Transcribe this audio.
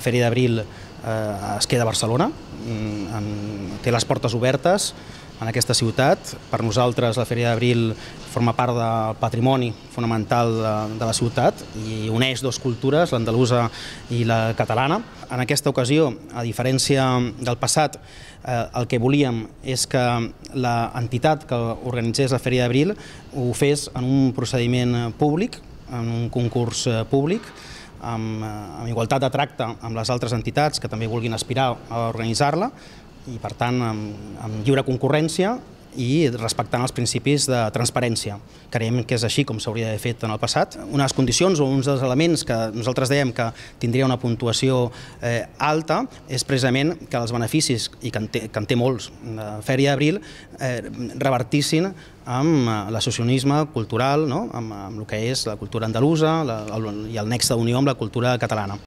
La Fèria d'Abril es queda a Barcelona, té les portes obertes en aquesta ciutat. Per nosaltres la Fèria d'Abril forma part del patrimoni fonamental de la ciutat i uneix dues cultures, l'andalusa i la catalana. En aquesta ocasió, a diferència del passat, el que volíem és que l'entitat que organitzés la Fèria d'Abril ho fes en un procediment públic, en un concurs públic, amb igualtat de tracte amb les altres entitats que també vulguin aspirar a organitzar-la i, per tant, amb lliure concurrència i respectant els principis de transparència. Creiem que és així com s'hauria d'haver fet en el passat. Una de les condicions o uns dels elements que nosaltres dèiem que tindria una puntuació alta és precisament que els beneficis, i que en té molts, la Fèria d'Abril, revertissin amb l'associacionisme cultural, amb el que és la cultura andalusa i el nexe d'unió amb la cultura catalana.